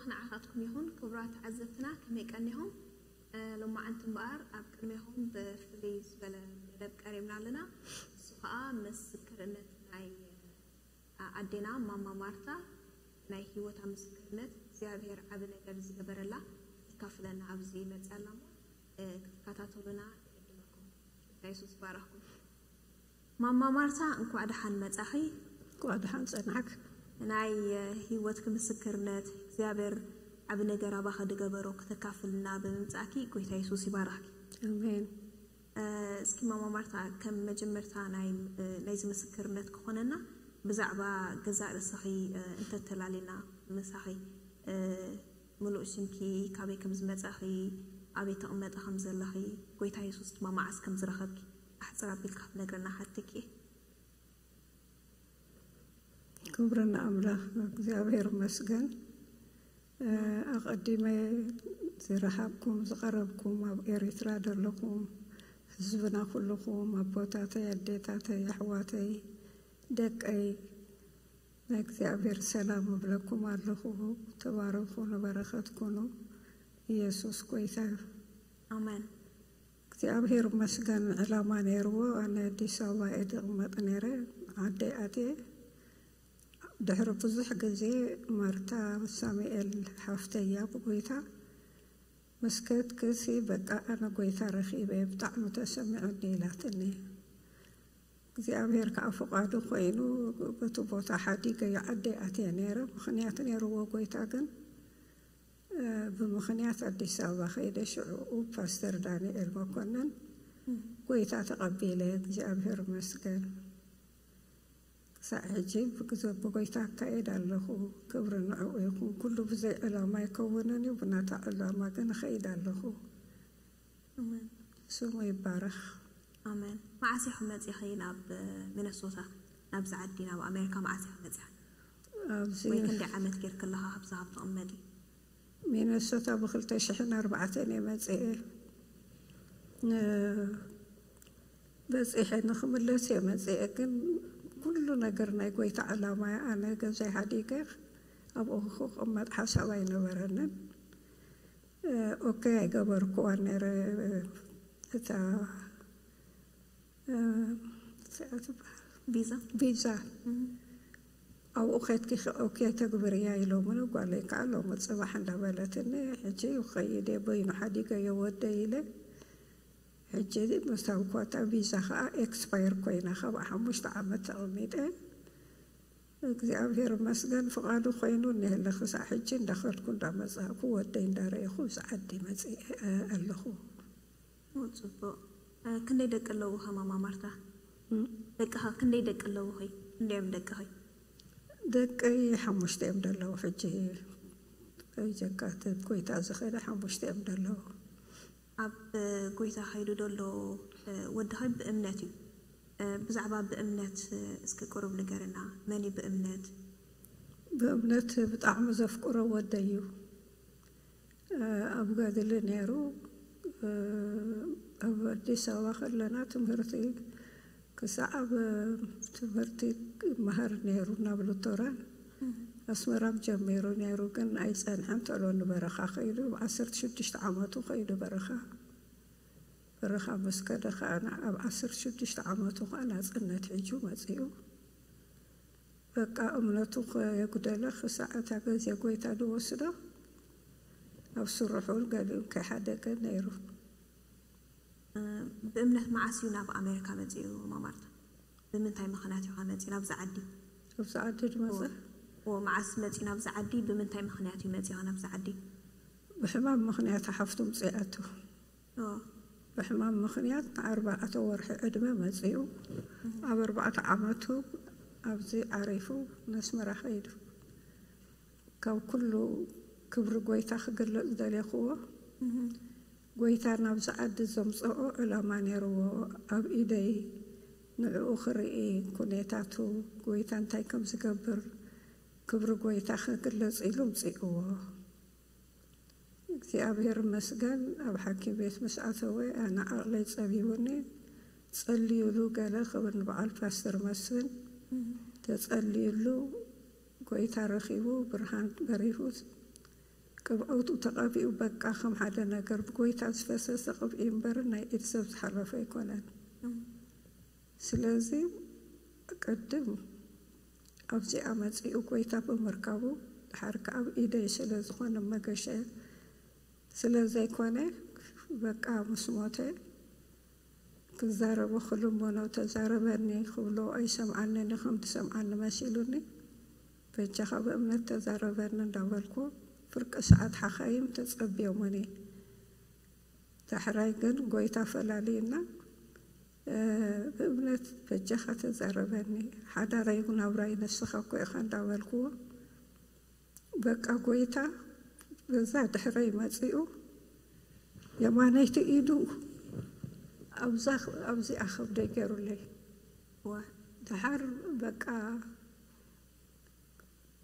ንዓኻትኩም ይኹን። ክቡራት ተዓዘብትና፣ ከመይ ቀኒኹም? እ፣ ሎማዓንቲ እምበኣር ኣብ ቅድሜኹም ብፍልይ ዝበለ መደብ ቀሪብና ኣለና። እሱ ኸኣ ምስክርነት ናይ፣ እ፣ ኣዴና ማማ ማርታ፣ ናይ ህይወታ ምስክርነት፣ እግዚኣብሔር ዓቢ ነገር ዝገበረላ ክተካፍለና ኣብዚ መጺኣ ኣላ እሞ፣ እ፣ ክትከታተሉና ይዕድመኩም። ጌታ የሱስ ይባረኽኩም። ማማ ማርታ፣ እንኳዕ ደሓን መጻኺ። እንኳዕ ደሓን ጸናሕክ። ናይ፣ እ፣ ህይወትኪ ምስክርነት፣ እግዚኣብሔር ዓቢ ነገር ኣባኺ ዝገበሮ ክተካፍልና ብምምጻእኪ፣ ጎይታ የሱስ ይባርኽኪ። ኣሜን። እ፣ እስኪ ማማ ማርታ፣ ከም መጀመርታ ናይ፣ እ፣ ናይዚ ምስክርነት ክኾነና፣ ብዛዕባ ገዛእ ርእስኺ፣ እ፣ እንተተላሊና ምሳኺ፣ እ፣ ምሉእ ሽምኪ፣ ካበይ ከም ዝመጻኺ፣ ኣበይ ትቕመጢ ከም ዘለኺ፣ ጎይታ የሱስ ድማ መዓስ ከም ዝረኸብኪ፣ ኣሕጽር ኣቢልካ ክትነግረና ሓትኪ። ክብሪ ንኣምላኽ፣ እግዚኣብሔር ይመስገን። እ፣ ኣቐዲመ ዝረሃብኩም፣ ዝቐረብኩም፣ ኣብ ኤሪትራ ዘለኹም ህዝብና ኩልኹም፣ ኣቦታተይ፣ ኣዴታተይ፣ ኣሕዋተይ፣ ደቀይ፣ ናይ እግዚኣብሔር ሰላም እብለኩም ኣለኹ። ተባረኹ፣ ንበረኸት ኩኑ። ኢየሱስ ጎይታ እዩ። ኣሜን። እግዚኣብሔር ይመስገን፣ ዕላማ ነይርዎ። ኣነ ኣዲስ ኣበባ እየ ዝቕመጥ ነይረ፣ ዓደይ ኣትየ። ድሕሪ ብዙሕ ግዜ ማርታ ሳሙኤል ሓፍተይ እያ ብጎይታ፣ ምስ ከድክሲ በቃ ኣነ ጎይታ ረኺበ፣ ብጣዕሚ ተሰሚዑኒ ኢላትኒ። እግዚኣብሔር ከዓ ፍቓዱ ኮይኑ በቲ ቦታ ሓዲገ ዓደይ ኣትየ ነይረ። ምኽንያት ነይርዎ ጎይታ ግን፣ እ፣ ብምኽንያት ኣዲስ ኣበባ ከይደ ሽዑ ፓስተር ዳንኤል መኮንን ጎይታ ተቐቢለ፣ እግዚኣብሔር ይመስገን። ክሳዕ ሕጂ ብግዘ-፣ ብጎይታ ኣካይድ ኣለኹ። ክብሪ ንዕኡ ይኹን። ኩሉ ብዘይ ዕላማ ኣይከውንን እዩ፣ ብናታ ዕላማ ግን እኸይድ ኣለኹ። ኣሜን። ስሙ ይባረኽ። ኣሜን። መዓስ ኢኺ መጺኺ ናብ ሚነሶታ፣ ናብዚ ዓዲ፣ ናብ ኣሜሪካ መዓስ ኢኺ መጺኺ? ኣብዚ ወይ ክንደይ ዓመት ጌርኪ ኣለኻ ካብዛ ካብ ትቕመጢ? ሚነሶታ ብኽልተ ሽሕን ኣርባዕተን እየ መጺኤ። ን-፣ በጺሐ ንኽምለስ እየ መጺኤ፣ ግን ኩሉ ነገር ናይ ጎይታ ዕላማ እየ። ኣነ ገዛይ ሓዲገ ኣብኡ ክቕመጥ ሓሳብ ኣይነበረንን። እ፣ ኦኬ ኣይገበርኩዋን ነይረ። እታ፣ እ፣ እዚኣ ትበሃል ቪዛ። ቪዛ። እም። ኣብኡ ኸድኪ ኸ ኦኬ ተግብርያ ኢሎምኒ። ጓለይ ከዓ ሎሚ ጽባሕ እንዳበለትኒ፣ ሕጂ ይኸይድ እየ፣ በይኑ ሓዲገዮ ወደይ ኢለ። ሕጂ ምስታ ኳታ ቪዛ ከዓ ኤክስፓየር ኮይና፣ ካብ ሓሙሽተ ዓመት ተቐሚጠ። እግዚኣብሔር ይመስገን፣ ፍቓዱ ኮይኑ እኒሀለ ክሳዕ ሕጂ እንዳኸድኩ እንዳመጻእኩ ወደይ እንዳረእኹ እዚ ዓዲ መጺአ ኣለኹ። ኦ፣ ጽቡቕ። እ፣ ክንደይ ደቂ ኣለውኺ ማማ ማርታ? እም? ደቅኻ ክንደይ ደቂ ኣለውኺ? ክንደይ እዮም ደቅኺ? ደቀይ ሓሙሽተ እዮም ደለዉ። ሕጂ ከይጀካትት ጎይታ ዝኸደ ሓሙሽተ እዮም ደለዉ። ኣብ ጎይታ ከይዱ ደሎ፣ እ፣ ወድኺ ብእምነት እዩ። እ፣ ብዛዕባ ብእምነት፣ እ፣ እስኪ ቁሩብ ንገርና። መን እዩ ብእምነት? ብእምነት ብጣዕሚ ዘፍቅሮ ወደይ እዩ። እ፣ ኣብ ገድሊ ነይሩ። እ፣ ኣብ ኣዲስ ኣበባ ከለና ትምህርቲ ክሳዕ ኣብ ትምህርቲ ይመሃር ነይሩ፣ ናብ ሉቶራን ኣስመራም ጀሚሩ ነይሩ፣ ግን ኣይጸንሐን። ተሎ ንበረኻ ከይዱ፣ ኣብ ዓሰርተ ሽዱሽተ ዓመቱ ከይዱ በረኻ። በረኻ ምስ ከደ ከኣ፣ ኣብ ዓሰርተ ሽዱሽተ ዓመቱ ከኣ ናጽነት ሒዙ መጺኡ። በቃ እምነቱ ከየጉደለ ክሳዕ እታ ግዜ ጎይታ ዝወስዶ፣ ኣብ ስርሑ ገሊኡ ከይሓደገ ነይሩ። እ፣ ብእምነት መዓስ እዩ ናብ ኣሜሪካ መጺኡ ማማ ማርታ? ብምንታይ ምኽንያት እዩ መጺኡ ናብዚ ዓዲ? ኣብዚ ዓዲ ዝመጸ? ኦ፣ መዓስ መጺኡ ናብዚ ዓዲ? ብምንታይ ምኽንያት እዩ መጺኡ ናብዚ ዓዲ? ብሕማም ምኽንያት ሓፍቱ ምጽኣቱ። ኦ። ብሕማም ምኽንያት ንኣርባዕተ ወርሒ ዕድመ መጺኡ። ኣብ ኣርባዕተ ዓመቱ ኣብዚ ዓሪፉ ነስመራ ከይዱ። ካብ ኩሉ ክብሪ ጎይታ ክግለጽ ደሌኽዎ። እህ። ጎይታ ናብዚ ዓዲ ዘምጽኦ ዕላማ ነይርዎ። ኣብ ኢደይ ንዕኡ ክርኢ፣ ኩኔታቱ፣ ጎይታ እንታይ ከም ዝገብር፣ ክብሪ ጎይታ ክግለጽ ኢሉ ኣምጺእዎ። እግዚኣብሔር ይመስገን፣ ኣብ ሓኪም ቤት ምስ ኣተወ ኣነ ዓቕለይ ጸቢቡኒ። ጸልዩሉ ገለ ክብል ንበዓል ፓስተር መስፍን እህ። ተጸልዩሉ፣ ጎይታ ረኺቡ፣ ብርሃን በሪሁ፣ ቅብኣቱ ተቐቢኡ በቃ ከም ሓደ ነገር ብጎይታ ዝፈሰሰ ቅብኢ እምበር ናይ ኢድ ሰብ ዝሓለፈ ኣይኮነን። ስለዚ ቅድም ኣብዚኣ መጺኡ ጎይታ ብምርካቡ ድሓር ከኣ ኣብ ኢደይ ስለ ዝኾነ መገሸ ስለ ዘይኮነ በቃ ምስ ሞተ ክዛረቦ ክልምኖ ተዛረበኒ ክብሎ ኣይሰምዓንን እዩ ከም ዝሰምዓኒ መሲሉኒ በጃኻ ብእምነት ተዛረበኒ እንዳበልኩ ፍርቂ ሰዓት ሓኻይም ተጸብዮምኒ። ዳሕራይ ግን ጎይታ ፈላልዩና ብእምነት በጃኻ ተዛረበኒ ሓዳረይ ናብራይ ንስኻ እኮ ኢኻ እንዳበልክዎ በቃ ጎይታ በዛ ድሕረይ መጺኡ የማነይቲ ኢዱ ኣብዚኣ ከብደይ ገይሩለይ። ደሓር በቃ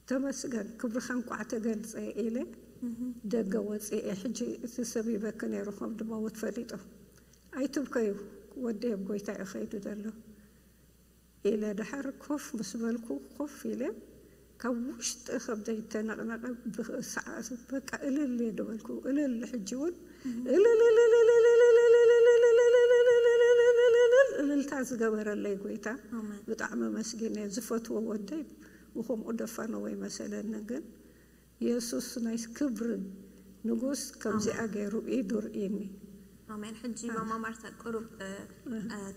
ተመስገን ክብርኻ እንቋዕ ተገልጸ ኢለ ደገ ወፅኤ። ሕጂ እቲ ሰብ ይበኪ ነይሩ ከም ድመውት ፈሊጡ ኣይትብከዩ ወደይ ኣብ ጎይታ እዩ ከይዱ ዘሎ ኢለ ደሓር ኮፍ ምስ በልኩ ኮፍ ኢለ ካብ ውሽጢ ከብደይ ተነቕነቐ። ብሰዓት በቃ እልል እየ ዝበልኩ እልል ሕጂ እውን እልልታ ዝገበረለይ ጎይታ ብጣዕሚ መስጊነ ዝፈትዎ ወደይ ብከምኡ ደፋነዎ ይመሰለኒ ግን የሱስ ናይ ክብሪ ንጉስ ከምዚኣ ገይሩ ኢዱ ርእኒ። ኣሜን። ሕጂ ማማ ማርታ ቅሩብ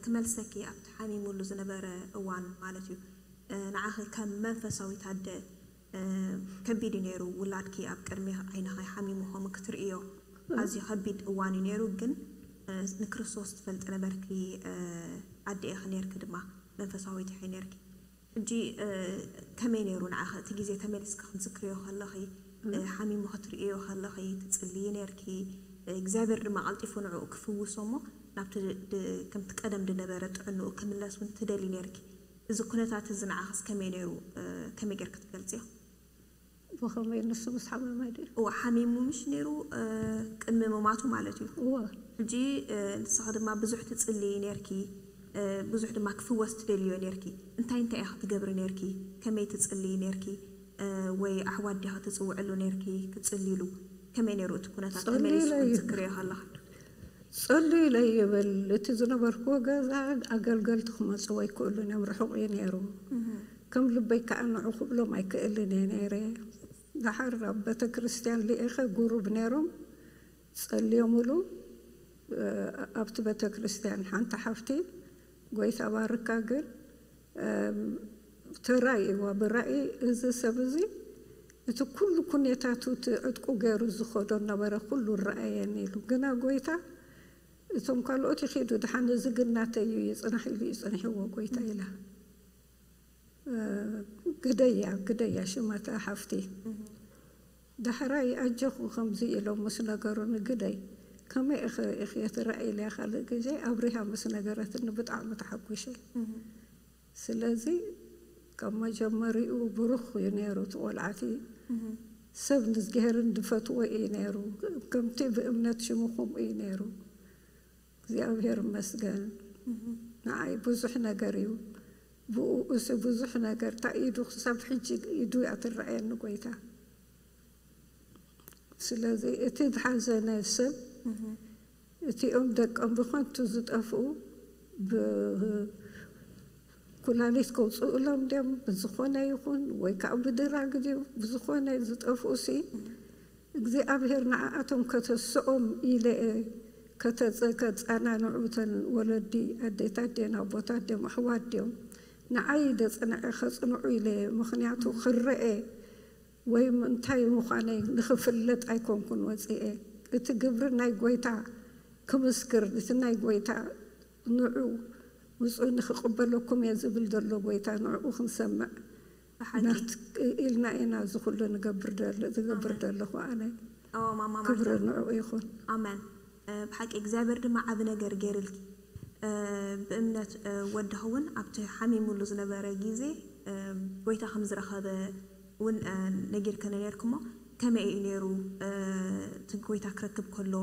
ክመልሰኪ ኣብቲ ሓሚሙሉ ዝነበረ እዋን ማለት እዩ ንዓኺ ከም መንፈሳዊት ኣደ ከቢድ እዩ ነይሩ ውላድኪ ኣብ ቅድሚ ዓይንኺ ሓሚሙ ከምኡ ክትርእዮ ኣዝዩ ከቢድ እዋን እዩ ነይሩ ግን ንክርስቶስ ትፈልጢ ነበርኪ ኣደ ኢኺ ነይርኪ ድማ መንፈሳዊት ኢኺ ነይርኪ ሕጂ ከመይ ነይሩ ንዓኺ እቲ ግዜ ተመሊስኪ ክትዝክርዮ ከለኺ ሓሚሙ ክትርእዮ ከለኺ ትጽልዪ ነይርኪ እግዚኣብሔር ድማ ቀልጢፉ ንዕኡ ክፍውሶ እሞ ናብቲ ከምቲ ቀደም ዝነበረ ጥዕንኡ ክምለስ እውን ትደሊ ነይርኪ እዚ ኩነታት እዚ ንዓኽስ ከመይ ነይሩ ከመይ ጌርኪ ትገልጽዮ ብኸመይ ንሱ ምስ ሓመመ ድዩ እዋ ሓሚሙ ምሽ ነይሩ ቅድሚ ምማቱ ማለት እዩ እዋ ሕጂ ንስኻ ድማ ብዙሕ ትጽልዪ ነርኪ ብዙሕ ድማ ክፍወስ ትደልዮ ነርኪ እንታይ እንታይ ኢኻ ትገብሪ ነርኪ ከመይ ትጽልዪ ነርኪ ወይ ኣሕዋት ዲኻ ትጽውዕሉ ነርኪ ክትጽልይሉ ከመይ ነይሩ እቲ ኩነታት ተመሊሱ ክትዝክርዮ ከለኻ ጸልዩለይ ይብል እቲ ዝነበርክዎ ገዛ ኣገልገልቲ ክመጽዎ ኣይክእሉን እዮም ርሑቕ እዩ ነይሩ ከም ልበይ ከዓ ንዑ ክብሎም ኣይክእልን እየ ነይረ ደሓር ኣብ ቤተ ክርስትያን ልኢኸ ጉሩብ ነይሮም ጸልዮምሉ ኣብቲ ቤተ ክርስትያን ሓንቲ ሓፍቲ ጎይታ ባርካ ግን ተራእይዋ ብራእይ እዚ ሰብ እዚ እቲ ኩሉ ኩኔታቱ እቲ ዕጥቁ ገይሩ ዝኸዶ ነበረ ኩሉ ረኣየኒ ኢሉ ግና ጎይታ እቶም ካልኦት ይኺዱ ድሓን እዚ ግን ናተይ እዩ ይፅናሕ ኢሉ እዩ ፀኒሕዎ ጎይታ ኢላ ግደያ ግደያ ሽማታ ሓፍቲ ዳሕራይ ኣጆኹ ከምዚ ኢሎም ምስ ነገሩኒ ግደይ ከመይ ኢኺ ርኢኽዮ ትረኣይለያ ካልእ ግዜ ኣብሪሃ ምስ ነገረትኒ ብጣዕሚ ተሓጒሸ ስለዚ ካብ መጀመሪኡ ብሩኽ እዩ ነይሩ እቲ ቆልዓቲ ሰብ ንዝግሄርን ድፈትዎ እዩ ነይሩ ከምቲ ብእምነት ሽሙ ከምኡ እዩ ነይሩ እግዚኣብሔር ይመስገን ንዓይ ብዙሕ ነገር እዩ ብኡ እሱ ብዙሕ ነገር እታ ኢዱ ክሳብ ሕጂ ኢዱ እያ ትረኣየኒ ጎይታ ስለዚ እቲ ዝሓዘነ ሰብ እቲኦም ደቆም ብኸንቱ ዝጠፍኡ ብኩላሊት ከውፅኡሎም ድዮም ብዝኾነ ይኹን ወይ ከዓ ብድራግ ድዩ ብዝኾነ ዝጠፍኡ ሲ እግዚኣብሔር ንዓኣቶም ከተስኦም ኢለ እየ ከተፀ ከፃናንዑ እተን ወለዲ ኣዴታት ድየን ኣቦታት ድዮም ኣሕዋት ድዮም ንዓይ ደፅንዐ ከፅንዑ ኢለ እየ ምኽንያቱ ክረአ ወይ እንታይ ምዃነይ ንኽፍለጥ ኣይኮንኩን ወፂኤ እቲ ግብሪ ናይ ጎይታ ክምስክር እቲ ናይ ጎይታ ንዑ ውፁ ንኽቕበለኩም እየ ዝብል ዘሎ ጎይታ ንዕኡ ክንሰምዕ ኢልና ኢና እዚ ኩሉ ንገብር ዝገብር ዘለኹ ኣነ ክብሪ ንዕኡ ይኹን ኣመን ብሓቂ እግዚኣብሔር ድማ ዓብ ነገር ገይርልኪ ብእምነት ወድኺ እውን ኣብቲ ሓሚሙሉ ዝነበረ ግዜ ጎይታ ከም ዝረኸበ እውን ነጊርክኒ ነርክሞ ከመይ እዩ ነይሩ እቲ ጎይታ ክረክብ ከሎ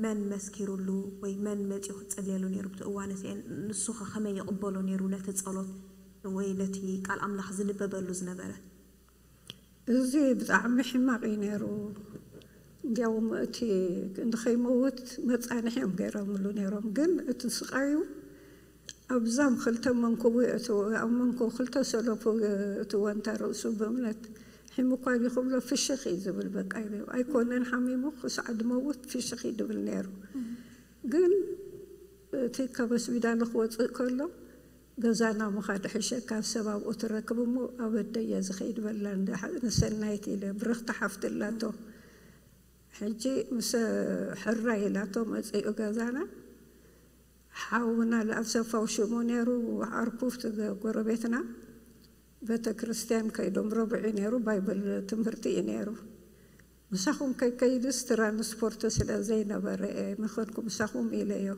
መን መስኪሩሉ ወይ መን መፂኡ ክፀልየሉ ነይሩ ብቲ እዋን እቲአን ንሱኸ ከመይ ይቕበሎ ነይሩ ነቲ ፀሎት ወይ ነቲ ቃል ኣምላኽ ዝንበበሉ ዝነበረ እዚ ብጣዕሚ ሕማቕ እዩ ነይሩ። እንዲያውም እቲ ንኸይመውት መጻንሒ እዮም ገይሮምሉ ነይሮም። ግን እቲ ስቓዩ ኣብዛም ክልተ መንኩቡ የእትዎ፣ ኣብ መንኩቡ ክልተ ሰለፉ የእትዎ፣ እንተ ርእሱ ብእምነት ሒሙ እኳ ድዩ ክብሎ ፍሽኽ እዩ ዝብል። በቃ ይብል። ኣይኮነን ሓሚሙ ክሳዕ ድመውት ፍሽኽ እዩ ድብል ነይሩ። ግን እቲ ካብ ሆስፒታል ክወፅእ ከሎ ገዛና ምኻድ ሕሸካ፣ ሰብ ኣብኡ ትረክብ እሞ ኣበደየ ዝኸይድ በላ። ንሰናይት ኢለ ብርኽቲ ሓፍቲ ኣላቶ። ሕጂ ምስ ሕራይ ኢላቶ መፂኡ ገዛና። ሓውና ለኣሰፋው ሽሙ ነይሩ፣ ዓርኩ ጎረቤትና። ቤተ ክርስቲያን ከይዶም ረብዒ ነይሩ፣ ባይብል ትምህርቲ እዩ ነይሩ። ምሳኹም ከይከይድስ ትራንስፖርት ስለ ዘይነበረ እየ መኸድኩ ምሳኹም ኢለዮ።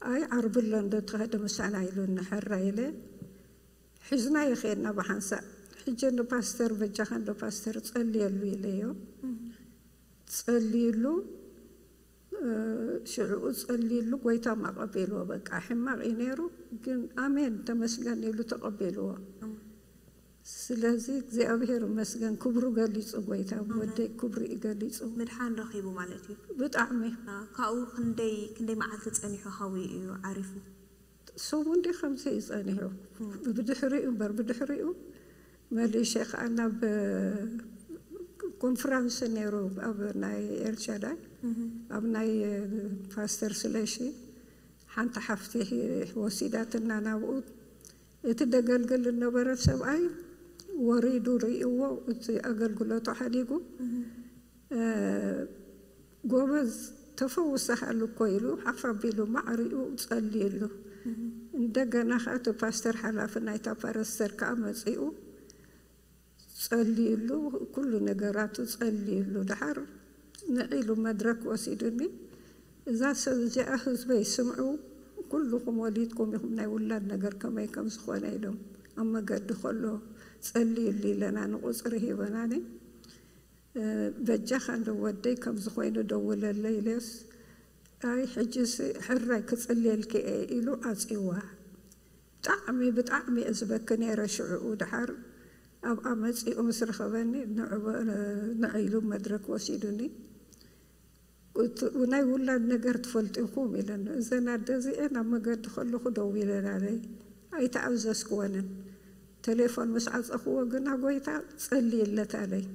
ኣይ ዓርቢ ኣሎ እንዶ ተኸደ ምሳና ኢሉኒ። ሕራ ኢለ ሒዝናዮ ኸድና ብሓንሳእ። ሕጂ እንዶ ፓስተር በጃኻ እንዶ ፓስተር ጸልየሉ ኢለዮ። ጸልዩሉ፣ ሽዕኡ ጸልዩሉ፣ ጎይታ ኣቐቢልዎ። በቃ ሕማቕ እዩ ነይሩ፣ ግን ኣሜን ተመስገን ኢሉ ተቐቢልዎ። ስለዚ እግዚኣብሔር ይመስገን፣ ክብሩ ገሊጹ ጎይታ፣ ወደይ ክብሩ እዩ ገሊጹ። ምድሓን ረኺቡ ማለት እዩ። ብጣዕሚ። ካብኡ ክንደይ ክንደይ መዓልቲ ጸኒሑ ሓዊ እዩ ዓሪፉ? ሰሙን ድዩ ከምዚ እዩ ጸኒሑ። ብድሕሪኡ እምበር፣ ብድሕሪኡ መሊሸ ከኣ ናብ ኮንፈረንስ ነይሩ ኣብ ናይ ኤልሻዳይ፣ ኣብ ናይ ፓስተር ስለሺ ሓንቲ ሓፍቲ ወሲዳትና ናብኡ። እቲ ደገልግል ዝነበረ ሰብኣይ ወሪዱ ርእይዎ፣ እቲ ኣገልግሎቱ ሓዲጉ። ጎበዝ ተፈውሰሃል እኮ ኢሉ ሓፍ ኣቢሉ ማዕሪኡ ጸልዩሉ። እንደገና ከኣ እቲ ፓስተር ሓላፊ ናይታ ፓረስተር ከኣ መጺኡ ጸልዩሉ፣ ኩሉ ነገራቱ ጸልዩሉ። ደሓር ንዒሉ መድረክ ወሲዱኒ፣ እዛ ሰብ እዚኣ ህዝበይ ስምዑ፣ ኩልኹም ወሊድኩም ኢኹም፣ ናይ ውላድ ነገር ከመይ ከም ዝኾነ ኢሎም ኣብ መገዲ ከሎ ጸልዩሉ ኢለና ንቁጽሪ ሂበናኒ። በጃኻ እንዶ ወደይ ከምዚ ኮይኑ ደውለለይ ኢለዮስ፣ ኣይ ሕጂስ ሕራይ ክጽልየልኪ እየ ኢሉ ዓጽይዋ። ብጣዕሚ ብጣዕሚ እየ ዝበኪ ነይረ ሽዕኡ። ደሓር ኣብኣ መጺኡ ምስ ረኸበኒ ንዕ ኢሉ መድረክ ወሲዱኒ። ናይ ውላድ ነገር ትፈልጡ ኢኹም ኢለኒ። እዘን ኣደ እዚአን ኣብ መገዲ ከለኹ ደው ኢለናለይ፣ ኣይተኣዘዝክወንን። ቴሌፎን ምስ ዓጸኽዎ ግና ጎይታ ጸልይለት ኣለይ።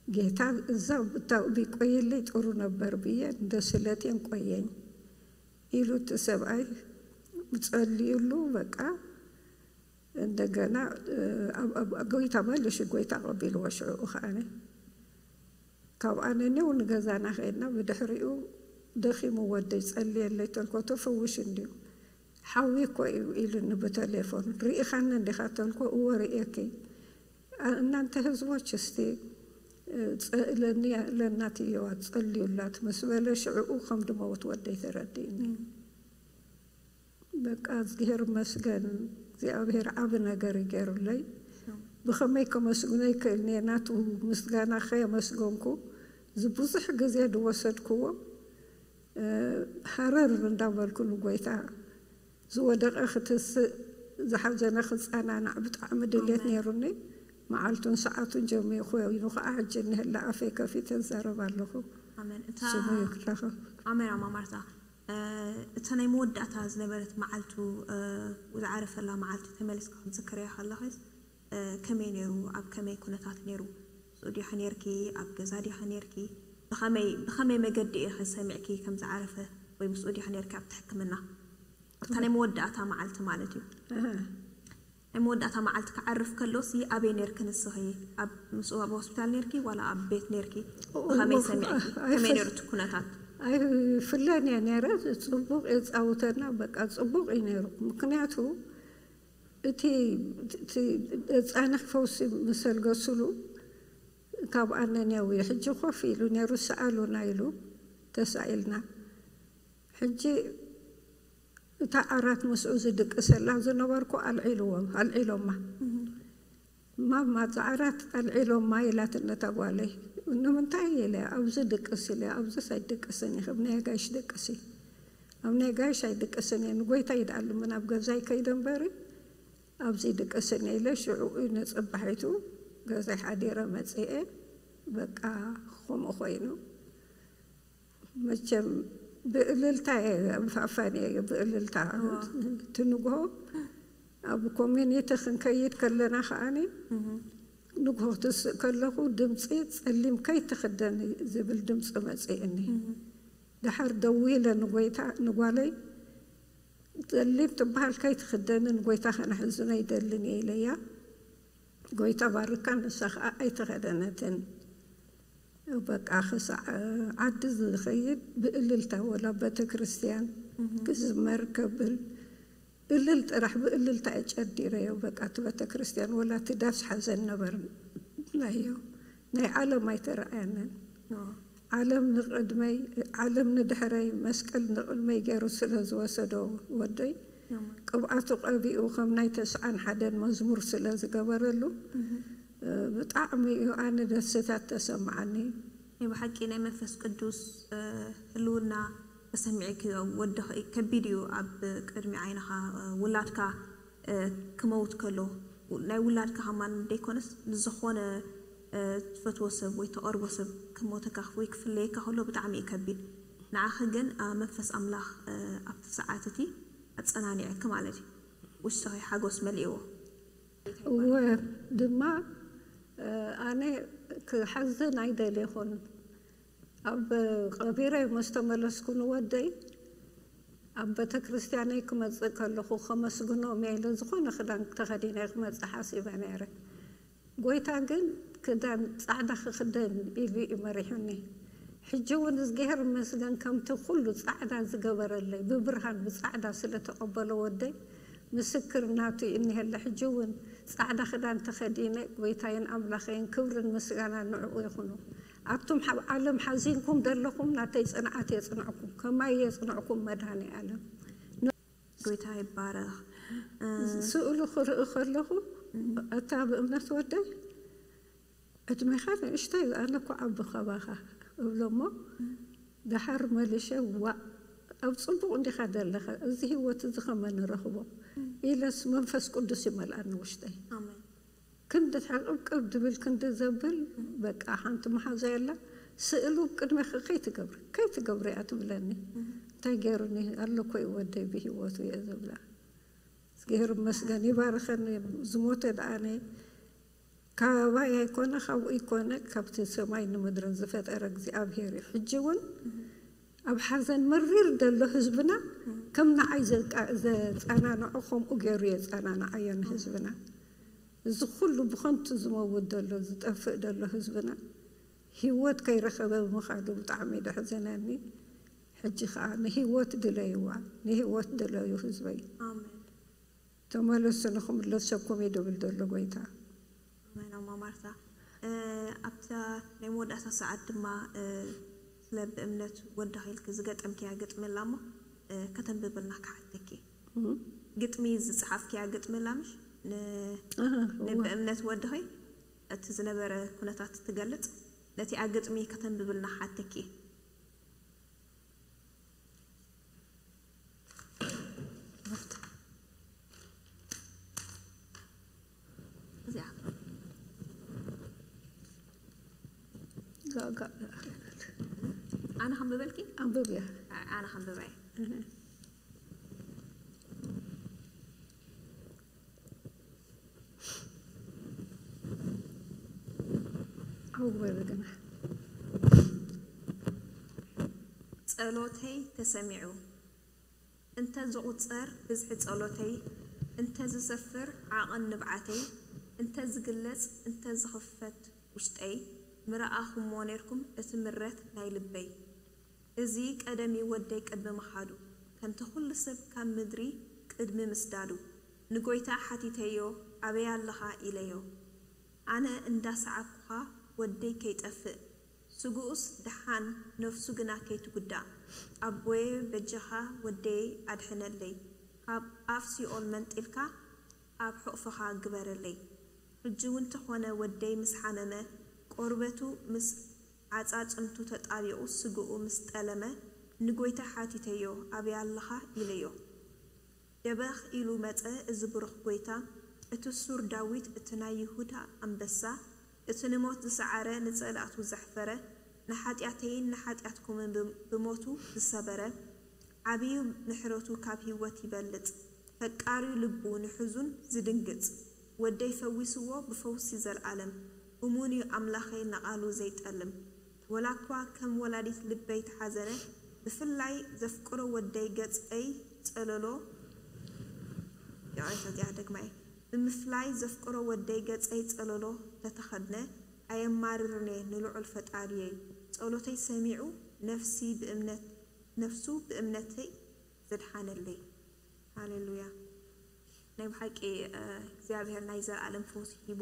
ጌታ እዛ ብታ ቢቆይልይ ጥሩ ነበር ብዬ እንደ ስለቴን ቆየኝ ኢሉ እቲ ሰብኣይ ጸልዩሉ። በቃ እንደገና ጎይታ መልሽ ጎይታ ቀቢልዎ ሽዑ ከዓነ ካብ ኣነኔው ንገዛና ከይድና ብድሕሪኡ ደኺሙ ወደይ ጸልየለይ ተልኮ ተፈውሽ እንዲዩ ሓዊ እኮ እዩ ኢሉኒ ብተሌፎን። ርኢኻኒ እንዲኻ ተልኮ እወ ርእየኪ። እናንተ ህዝቦች እስቲ ለእናትየዋ ጸልዩላት ምስ በለ ሽዕኡ ከም ድመውት ወደይ ተረዲእኒ። በቃ እዝግሄር መስገን እግዚኣብሔር ዓብ ነገር ይገሩለይ። ብኸመይ ከመስግኖ ይክእል እየ ናቱ ምስጋና ከየመስገንኩ ዝብዙሕ ግዜ ድወሰድክዎ ሃረር እንዳበልኩ ንጎይታ ዝወደቐ ክትስእ ዝሓዘነ ክፀናናዕ ብጣዕሚ ድልየት ነይሩኒ። መዓልቱን ሰዓቱን ጀሚሩ ኮይኑ ከዓ ሕጂ እንህላ ኣፈይ ከፊተ እዛረብ ኣለኹ። ኣሜን። እታ ስሙ ይባረኽ። ኣሜን ኣማ ማርታ። እታ ናይ መወዳእታ ዝነበረት መዓልቱ ዝዓረፈላ መዓልቲ ተመሊስካ ክትዝክርያ ከለኸስ ከመይ ነይሩ? ኣብ ከመይ ኩነታት ነይሩ? ምስኡ ዲኻ ነይርኪ? ኣብ ገዛ ዲኻ ነይርኪ? ብኸመይ ብኸመይ መገዲ ኢኺ ሰሚዕኪ ከም ዝዓረፈ ወይ ምስኡ ዲኻ ነይርኪ ኣብቲ ሕክምና? ኣብታ ናይ መወዳእታ መዓልቲ ማለት እዩ። ናይ መወዳእታ መዓልቲ ክዓርፍ ከሎሲ ኣበይ ነይርኪ ንስኺ? ኣብ ምስኡ ኣብ ሆስፒታል ነይርኪ ዋላ ኣብ ቤት ነይርኪ? ብኸመይ ሰሚዕኪ? ከመይ ነይሩ እቲ ኩነታት? ኣይፍለን እየ ነይረ። ጽቡቕ የጻውተና፣ በቃ ጽቡቕ እዩ ነይሩ። ምክንያቱ እቲ ጻንሕ ፈውሲ ምስ ኣልገሱሉ ካብ ኣነንያዊ ሕጂ ኮፍ ኢሉ ነይሩ፣ ሰኣሉና ኢሉ ተሳኢልና። ሕጂ እታ ዓራት ምስኡ ዝድቅሰላ ዝነበርኩ ኣልዒልዎም ኣልዒሎማ። ማማ እዛ ዓራት ኣልዒሎማ ኢላትኒ እታ ጓለይ። ንምንታይ ኢለ ኣብዚ ድቅስ ኢለ ኣብዚስ ኣይድቅስን እየ፣ ናይ ኣጋይሽ ድቅስ እዩ። ኣብ ናይ ኣጋይሽ ኣይድቅስን እየ፣ ንጎይታ ይድኣሉ ምን ኣብ ገዛይ ከይደ እምበሪ ኣብዚ ድቅስን እየ ኢለ ሽዑ እዩ ንጽባሒቱ ገዛይ ሓዲረ መፅኤ በቃ ከምኡ ኮይኑ መቸም ብእልልታ እየ፣ ብፋፋን እየ ብእልልታ። እቲ ንግሆ ኣብ ኮሚኒቲ ክንከይድ ከለና ከዓኒ ንግሆ ክትስእ ከለኹ ድምፂ ፀሊም ከይትኽደን ዝብል ድምፂ መፅእኒ። ድሓር ደዊለ ንጎይታ ንጓለይ፣ ጸሊም ትበሃል ከይትኽደንን ጎይታ ከነሕዝኖ ይደልን እየ ኢለያ። ጎይታ ባርካ፣ ንሳ ኸዓ ኣይተኸደነትን። በቃ ክሳዕ ዓዲ ዝኸይድ ብእልልታ ወላ ቤተ ክርስቲያን ክዝመር ከብል እልል ጥራሕ ብእልልታ እጨዲረዮ። በቃ እቲ ቤተ ክርስቲያን ወላ እቲ ዳስ ሓዘን ነበርናዮ። ናይ ዓለም ኣይተረኣየንን። ዓለም ንቕድመይ፣ ዓለም ንድሕረይ፣ መስቀል ንቕድመይ ገይሩ ስለ ዝወሰዶ ወደይ፣ ቅብኣቱ ቀቢኡ ከም ናይ ተስዓን ሓደን መዝሙር ስለ ዝገበረሉ፣ ብጣዕሚ እዩ ኣነ ደስታት ተሰማዓኒ። ናይ ብሓቂ ናይ መንፈስ ቅዱስ ህልውና ተሰሚዕኪ ወዲ ከቢድ እዩ። ኣብ ቅድሚ ዓይንኻ ውላድካ ክመውት ከሎ፣ ናይ ውላድካ ከማን ደይኮነስ ንዝኾነ ትፈትዎ ሰብ ወይ ተቐርቦ ሰብ ክሞተካ ወይ ክፍለየካ ከሎ ብጣዕሚ እዩ ከቢድ። ንዓኺ ግን መንፈስ ኣምላኽ ኣብቲ ሰዓት እቲ ኣጸናኒዐኪ ማለት እዩ። ውሽጥኺ ሓጎስ መሊእዎ። እወ፣ ድማ ኣነ ክሓዝን ኣይደልየኹን። ኣብ ቀቢረይ ምስ ተመለስኩ ንወደይ ኣብ ቤተ ክርስቲያነይ ክመጽእ ከለኹ ከመስግኖም እየ ኢለ ዝኾነ ክዳን ተኸዲነ ክመጽእ ሓሲበ ነይረ። ጎይታ ግን ክዳን ጻዕዳ ክኽደን ኢሉ እዩ መሪሑኒ። ሕጂ እውን እዝግሄር ይመስገን ከምቲ ኩሉ ጻዕዳ ዝገበረለይ ብብርሃን ብጻዕዳ ስለ ተቐበሎ ወደይ ምስክር ናቱ እዩ እኒሀለ። ሕጂ እውን ጻዕዳ ክዳን ተኸዲነ ጎይታይን ኣምላኸይን ክብርን ምስጋናን ንዕኡ ይኹኑ። ኣቱም ኣብ ዓለም ሓዚንኩም ዘለኹም ናተይ ጽንዓት የጽንዕኩም፣ ከማይ የጽንዕኩም መድሃኔ ኣለም። ጎይታ ይባረኽ። ስእሉ ክርኢ ከለኹ እታ ብእምነት ወደይ ዕድሜኻ ንእሽተይ ኣነ እኮ ዓቢ ካባኻ እብሎ እሞ ደሓር መሊሸ ዋእ ኣብ ጽቡቕ እንዲኻ ዘለኻ እዚ ህይወት እዚ ከመ ንረኽቦ ኢለስ መንፈስ ቅዱስ ይመልኣኒ ውሽጠይ። ኣሜን። ክንዲ ሕቕብቅብ ድብል ክንዲ ዘብል በቃ ሓንቲ መሓዛ የላ ስእሉ ቅድሜኺ ከይትገብሪ ከይትገብሪ እያ ትብለኒ። እንታይ ገይሩኒ ኣሎ እኮ እዩ ወደይ ብህይወቱ እየ ዝብላ። እግዚኣብሔር ይመስገን ይባርኸኒ። ዝሞተ ደኣነ ካባይ ኣይኮነ ካብኡ ይኮነ ካብቲ ሰማይ ንምድርን ዝፈጠረ እግዚኣብሔር እዩ። ሕጂ እውን ኣብ ሓዘን መሪር ዘሎ ህዝብና ከም ንዓይ ዘቃ- ዘጸናንዖ ከምኡ ገይሩ የጸናንዓዮ ንህዝብና። እዚ ኩሉ ብኸንቱ ዝመውት ዘሎ ዝጠፍእ ዘሎ ህዝብና ህይወት ከይረኸበ ብምኻዱ ብጣዕሚ ደሕዘነኒ። ሕጂ ከዓ ንህይወት ድለይዋ ንህይወት ድለዩ ህዝበይ። ኣሜን። ተመለሱ ንኽምለሰኩም እዩ ድብል ዘሎ ጎይታ። ኣሜን ኣማ ማርታ። ኣብታ ናይ መወዳእታ ሰዓት ድማ ስለ ብእምነት ወድኺ ኢልኪ ዝገጠምክያ ግጥሚ ኣላ እሞ ከተንብብልና ክሓተኪ። ግጥሚ ዝፀሓፍክያ ግጥሚ ኣላ ምሽ? ን- ኣሃ፣ ናይ እወ። ብእምነት ወድኺ እቲ ዝነበረ ኩነታት ትገልፅ ነቲኣ ግጥሚ ከተንብብልና ክሓተኪ። እዚኣ ጋጋ ኣነ ከንብበልኪ? ኣንብብያ። ኣነ ከንብበ እየ። ኣወ በግና ጸሎተይ ተሰሚዑ እንተ ዝቑጸር ብዝሒ ጸሎተይ፣ እንተ ዝሰፍር ዓቐን ንብዓተይ፣ እንተ ዝግለጽ እንተ ዝኽፈት ውሽጠይ፣ ምረኣኹሞ ኔርኩም እቲ ምረት ናይ ልበይ። እዚ ቀደም እዩ ወደይ ቅድሚ ምኻዱ፣ ከምቲ ኩሉ ሰብ ካብ ምድሪ ቅድሚ ምስዳዱ፣ ንጎይታ ሓቲተዮ ኣበይ ኣለኻ ኢለዮ። ኣነ እንዳ ሰዓብኩኻ ወደይ ከይጠፍእ፣ ስግኡስ ደሓን ነፍሱ ግና ከይትጉዳእ፣ ኣቦየ በጃኻ ወደይ ኣድሕነለይ፣ ካብ ኣፍ ሲኦል መንጢልካ ኣብ ሕቑፍኻ ግበረለይ። ሕጂ እውን ተኾነ ወደይ ምስ ሓመመ፣ ቆርበቱ ምስ ዓጻጽምቱ ተጣቢቑ ስግኡ ምስ ጠለመ፣ ንጎይታ ሓቲተዮ፣ ኣበይ ኣለኻ? ኢለዮ። ደበኽ ኢሉ መጸ፣ እዚ ብሩኽ ጎይታ፣ እቲ ሱር ዳዊት፣ እቲ ናይ ይሁዳ ኣንበሳ፣ እቲ ንሞት ዝሰዓረ፣ ንጸላእቱ ዘሕፈረ፣ ንሓጢኣተይን ንሓጢኣትኩምን ብ-፣ ብሞቱ ዝሰበረ፣ ዓብዩ ምሕረቱ ካብ ህይወት ይበልጽ። ፈቃሪዩ ልቡ ንሕዙን ዝድንግጽ፣ ወደይ ፈዊስዎ ብፈውሲ ዘልኣለም። እሙን እዩ ኣምላኸይ ንቓሉ ዘይጠልም። ወላ እኳ ከም ወላዲት ልበይ ተሓዘነ፣ ብፍላይ ዘፍቅሮ ወደይ ገጸይ ጸለሎ፣ ይቕሬታ፣ እዚኣ ደግማ እየ። ብምፍላይ ዘፍቅሮ ወደይ ገጸይ ጸለሎ ተተኸድነ፣ ኣየማርርን እየ ንልዑል ፈጣሪየይ። ጸሎተይ ሰሚዑ ነፍሲ ብእምነት፣ ነፍሱ ብእምነተይ ዘድሓነለይ። ሃሌሉያ። ናይ ብሓቂ፣ እ፣ እግዚኣብሔር ናይ ዘላለም ፈውሲ ሂቦ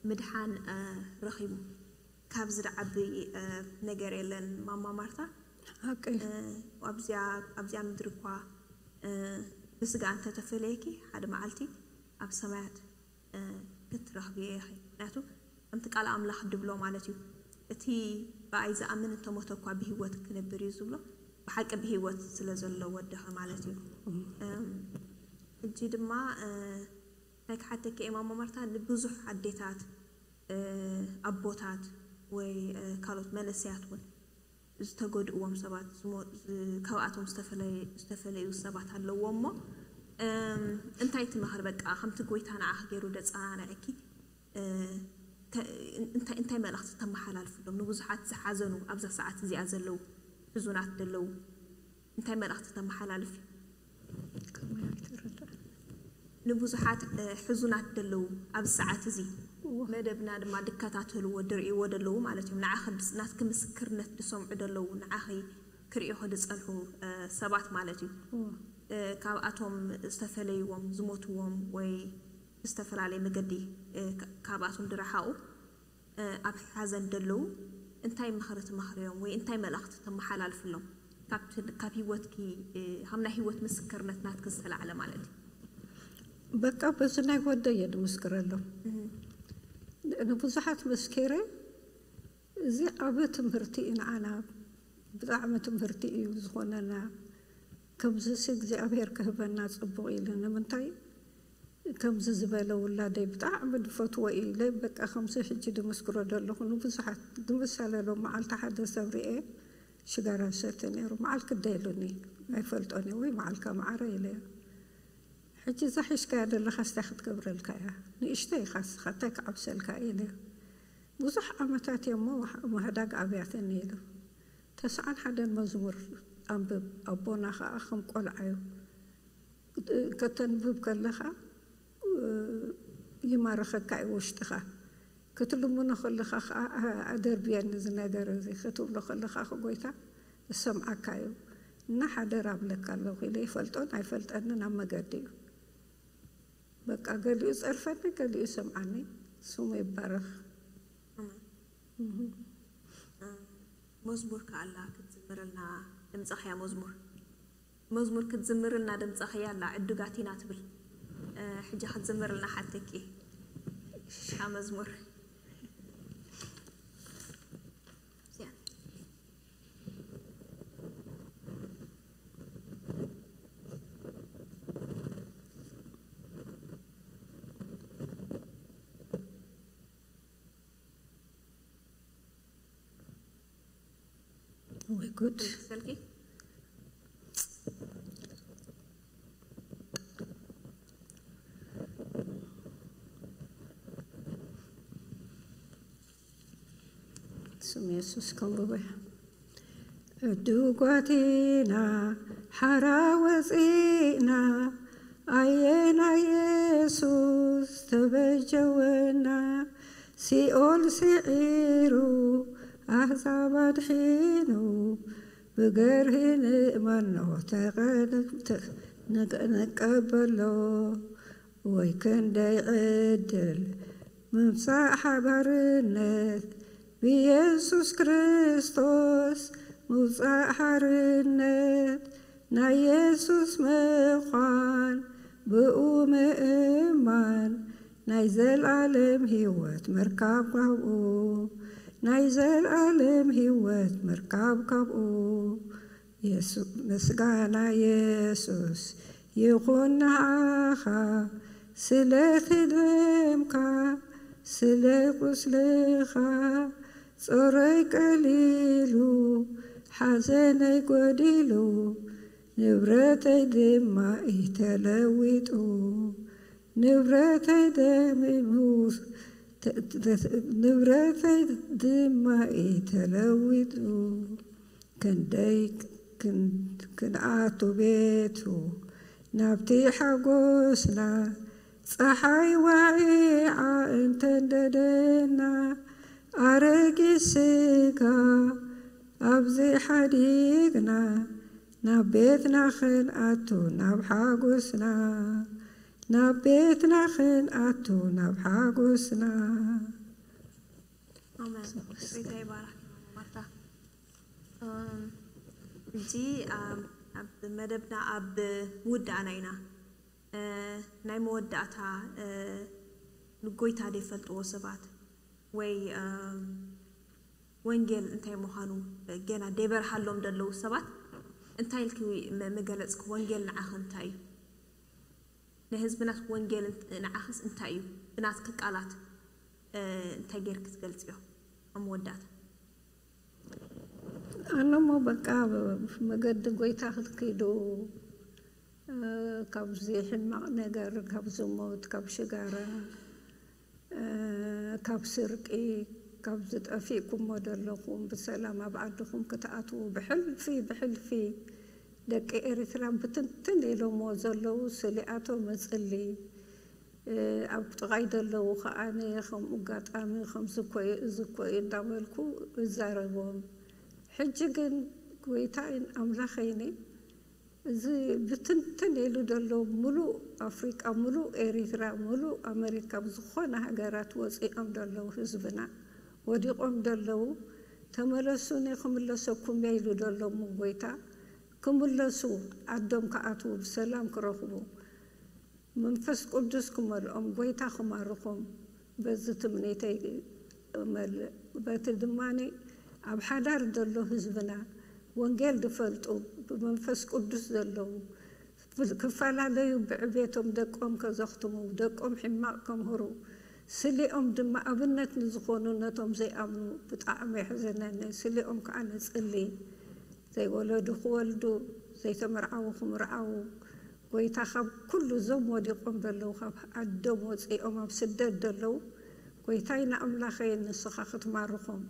ምድሓን፣ እ፣ ረኺቡ። ካብዚ ዝዓቢ፣ እ፣ ነገር የለን ማማ ማርታ። ሓቂ። እ፣ ኣብዚኣ፣ ኣብዚኣ ምድሪ እኳ፣ እ፣ ብስጋ እንተተፈለየኪ ሓደ መዓልቲ ኣብ ሰማያት፣ እ፣ ክትረኽብዮ ኢኺ። ምክንያቱ ከምቲ ቃል ኣምላኽ ድብሎ ማለት እዩ። እቲ ብኣይ ዝኣምን እንተሞተ እኳ ብህይወት ክነብር እዩ ዝብሎ። ብሓቂ ብህይወት ስለ ዘሎ ወደኸ ማለት እዩ። እም፣ ሕጂ ድማ፣ እ፣ እንታይ ክሓተኪ እየ ማማ ማርታ፣ ንብዙሕ ኣዴታት፣ እ፣ ኣቦታት ወይ፣ እ፣ ካልኦት መነሰያት እውን ዝተጎድእዎም ሰባት፣ ዝሞ-፣ ዝ-፣ ካብኣቶም ዝተፈለየ-፣ ዝተፈለዩ ሰባት ኣለዎ እሞ፣ እም፣ እንታይ ትመኽሪ? በቃ ከምቲ ጎይታ ንዓኺ ገይሩ ደጸናንዐኪ፣ እ፣ ከ-፣ እንታይ፣ እንታይ መልእኽቲ ተመሓላልፍሎም? ንብዙሓት ዝሓዘኑ፣ ኣብዛ ሰዓት እዚኣ ዘለዉ፣ ሕዙናት ዘለዉ፣ እንታይ መልእኽቲ ተመሓላልፊ? ከመይ ኣይተረዳእን። ንብዙሓት፣ እ፣ ሕዙናት ዘለዉ ኣብዚ ሰዓት እዚ እወ። መደብና ድማ ድከታተልዎ ድርእይዎ ዘለዉ ማለት እዮም። ንዓኺ ድስ-፣ ናትኪ ምስክርነት ድሰምዑ ዘለዉ፣ ንዓኺ ክርእዩኺ ድጸንሑ፣ እ፣ ሰባት ማለት እዩ። እወ። እ፣ ካብኣቶም ዝተፈለይዎም፣ ዝሞትዎም ወይ ብዝተፈላለየ መገዲ፣ እ፣ ካ-፣ ካብኣቶም ድረሓቑ፣ እ፣ ኣብ ሓዘን ደለዉ እንታይ ምኽሪ ትመኽርዮም ወይ እንታይ መልእኽቲ ተመሓላልፍሎም? ካብቲ፣ ካብ ህይወትኪ፣ እ፣ ካብ ናይ ህይወት ምስክርነት ናትኪ ዝተላዕለ ማለት እዩ። በቃ በዚ ናይ ወደይ እየ ድምስክረሎም። እህ። ንብዙሓት መስኪረ፣ እዚ ዓቢ ትምህርቲ እዩ ንዓና፣ ብጣዕሚ ትምህርቲ እዩ ዝኾነና። ከምዚሲ እግዚኣብሔር ክህበና ጽቡቕ ኢሉ። ንምንታይ ከምዚ ዝበለ ውላደይ ብጣዕሚ ድፈትዎ ኢለ፣ በቃ ከምዚ ሕጂ ድምስክሮ ደለኹ። ንብዙሓት ድምሳለሎም መዓልቲ ሓደ ሰብ ርኤ ሽጋራ ዝሰቲ ነይሩ። መዓል ክደ ኢሉኒ፣ ኣይፈልጦን እየ፣ ወይ መዓልካ መዓረ ኢለዮ። ሕጂ እዛ ሒዝካያ ዘለኻ ስታይ ክትገብረልካ እያ? ንእሽተይ ኢኻ እስኻ፣ እንታይ ክዓብሰልካ ኢለዮ። ብዙሕ ዓመታት እየ እሞ፣ ማህዳግ ኣብያተኒ ኢሉ። ተስዓን ሓደን መዝሙር ኣንብብ፣ ኣቦና ኸኣ ከም ቆልዓ እዩ። ከተንብብ ከለኻ፣ እ፣ ይማርኸካ እዩ ውሽጥኻ። ክትልምኖ ከለኻ ኸኣ፣ "ኣ-፣ ኣደርብየኒ እዚ ነገር እዚ" ክትብሎ ከለኻ፣ "ኸ ጎይታ፣ እሰምዓካ እዩ እና ሓደራ እብለካ ኣለኹ" ኢለ ይፈልጦን ኣይፈልጠንን ኣብ መገዲ እዩ። በቃ፣ ገሊኡ ጸርፈኒ፣ ገሊኡ ሰምዓኒ። ስሙ ይባረኽ። ኣሜን። እህ። እ፣ መዝሙር ከኣላ ክትዝምረልና ድምጻኽያ መዝሙር። መዝሙር ክትዝምርልና ድምጻኽያ ኣላ፣ ዕዱጋት ኢና ትብል። እ፣ ሕጂ ክትዝምርልና ሓተኪ። እሺ። እታ መዝሙር። እዚኣ። ወይ ጉድ። ስልኪ። ስም የሱስ ከንብቦ እየ። ዕዱጓት ኢና ሓራ ወፂእና፣ ኣየና የሱስ ተበጀወና። ሲኦል ስዒሩ ኣህዛብ ኣድሒኑ፣ ብገርሂ ንእመኖ ተቐ-፣ ተ-፣ ንቀ-፣ ንቀበሎ። ወይ ክንደይ ዕድል ምምጻእ ሓባርነት ብየሱስ ክርስቶስ ምውጻእ ሓርነት ናይ የሱስ ምዃን ብኡ ምእማን ናይ ዘልኣለም ህይወት ምርካብ ካብኡ ናይ ዘልኣለም ህይወት ምርካብ ካብኡ የሱ-፣ ምስጋና የሱስ ይኹን ንዓኻ፣ ስለቲ ደምካ ስለ ቁስልኻ ጾረይ ቀሊሉ፣ ሓዘነይ ጎዲሉ፣ ንብረተይ ድማ እዩ ተለዊጡ። ንብረተይ ደሚሙ፣ ተ-፣ ተ-፣ ንብረተይ ድማ እዩ ተለዊጡ። ክንደይ ክን-፣ ክንኣቱ ቤቱ ናብቲ ሓጎስና፣ ጸሓይ ዋዒዓ እንተንደደና፣ ኣረጊት ስጋ ኣብዚ ሓዲግና፣ ናብ ቤትና ክንኣቱ ናብ ሓጎስና፣ ናብ ቤትና ክንኣቱ ናብ ሓጎስና። ኣሜን። ጌታ ይባረክ ማርታ። እም፣ ሕጂ ኣብ ኣብ መደብና ኣብ ምውዳእና ኢና። እ፣ ናይ መወዳእታ እ፣ ንጎይታ ዘይፈልጥዎ ሰባት ወይ እም፣ ወንጌል እንታይ ምዃኑ ገና ደይበርሃሎም ዘለዉ ሰባት እንታይ ኢልኪ መ- መገለጽኪ? ወንጌል ንዓኺ እንታይ እዩ? ንህዝብናስ ወንጌል እንት- ንዓኽስ እንታይ እዩ? ብናትኪ ቃላት እ፣ እንታይ ጌርኪ ትገልጽዮ? ኣብ መወዳእታ ኣነሞ በቃ መገዲ ጎይታ ክትከይዱ፣ እ፣ ካብዚ ሕማቕ ነገር፣ ካብ ዝሙት፣ ካብ ሽጋራ፣ እ፣ ካብ ስርቂ፣ ካብ ዝጠፊእኩሞ ዘለኹም ብሰላም ኣብ ዓድኹም ክትኣትዉ ብሕልፊ ብሕልፊ ደቂ ኤርትራ ብትንትን ኢሎሞ ዘለዉ ስሊኣቶም እጽሊ። እ፣ ኣብ ጥቓይ ዘለዉ ከኣ ከምኡ ኣጋጣሚ ከምዚ እኮ እዩ፣ እዚ እኮ እዩ እንዳበልኩ እዛረቦም። ሕጂ ግን ጎይታይን ኣምላኸይኒ እዚ ብትንትን ኢሉ ዘሎ ምሉእ ኣፍሪቃ፣ ምሉእ ኤሪትራ፣ ምሉእ ኣመሪካ፣ ኣብ ዝኾነ ሃገራት ወፂኦም ዘለዉ ህዝብና ወዲቖም ዘለዉ፣ ተመለሱኒ ክምለሰኩም እየ ኢሉ ዘሎ እሞ ጎይታ፣ ክምለሱ ዓዶም ክኣትዉ ብሰላም ክረኽቡ መንፈስ ቅዱስ ክመልኦም ጎይታ ክማርኾም በዚ ትምኒተይ እመልእ። በቲ ድማ ኣብ ሓዳር ዘሎ ህዝብና ወንጌል ዝፈልጡ ብመንፈስ ቅዱስ ዘለዉ ክፈላለዩ ብዕቤቶም ደቆም ከዘኽትሙ ደቆም ሕማቕ ከምህሩ ስሊኦም ድማ ኣብነት ንዝኾኑ ነቶም ዘይኣምኑ ብጣዕሚ የሕዝነኒ። ስሊኦም ከዓ ንጽሊ ዘይወለዱ ክወልዱ ዘይተመርዓዉ ክምርዓዉ ጎይታ ካብ ኩሉ እዞም ወዲቖም ዘለዉ ካብ ዓዶም ወፂኦም ኣብ ስደት ዘለዉ ጎይታይ ንኣምላኸይ ንስኻ ክትማርኾም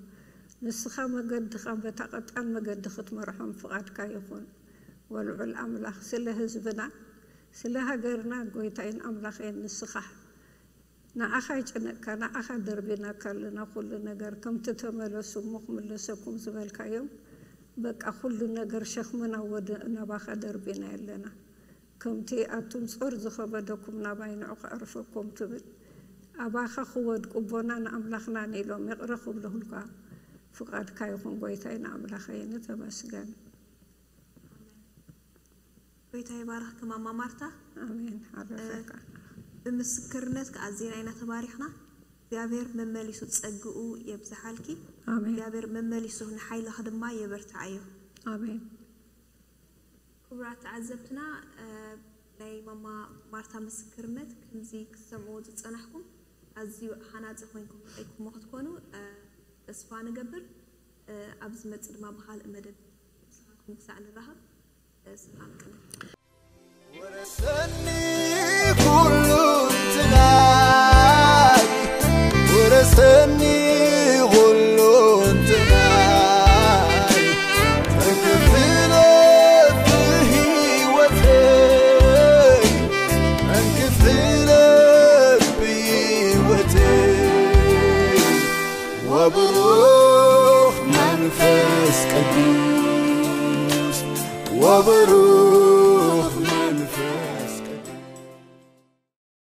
ንስኻ መገድኻ በታ ቀጣን መገዲ ክትመርሖም ፍቓድካ ይኹን። ወልዑል ኣምላኽ ስለ ህዝብና ስለ ሃገርና ጎይታይን ኣምላኸይን ንስኻ ንዓኻ ይጨነቅካ ንዓኻ ደርቢናካ ኣለና ኩሉ ነገር ከምቲ ተመለሱ እሞ ክምለሰኩም ዝበልካዮም በቃ ኩሉ ነገር ሸኽምና ወደ ናባኻ ደርቢና ኣለና ከምቲ ኣቱም ጾር ዝኸበደኩም ናባይ ንዑ ከዕርፈኩም ትብል ኣባኻ ክወድቁ ቦና ንኣምላኽና ንኢሎም ይቕረ ክብልኹልካ ፍቃድካ ይኹን ጎይታይ ንኣምላኸይ ንተመስገን ጎይታ ይባርኽኪ ማማ ማርታ። ኣሜን ሓረፈካ ብምስክርነት ከኣ ዜና ኢና ተባሪኽና። እግዚኣብሔር መመሊሱ ጸግኡ የብዝሓልኪ። ኣሜን እግዚኣብሔር መመሊሱ ንሓይልኺ ድማ የበርትዓዮ። ኣሜን ክቡራት ተዓዘብትና እ፣ ናይ ማማ ማርታ ምስክርነት ከምዚ ክትሰምዕዎ ዝጸናሕኩም ኣዝዩ ሃናጺ ኮይንኩም ረኢኩሞ ክትኮኑ እ፣ ተስፋ ንገብር። እ፣ ኣብ ዝመጽእ ድማ ብኻልእ መደብ ምሳኻትኩም ክሳዕ ንራኸብ ሰላም ቅነ ወረሰኒ ኩሉ እንትናይ ወረሰኒ ኩሉ እንትናይ ተክፍለ ብህይወተይ መንክፍለ ብህይወተይ ወብሩኽ መንፈስ ቅዱስ ወብሩኽ መንፈስ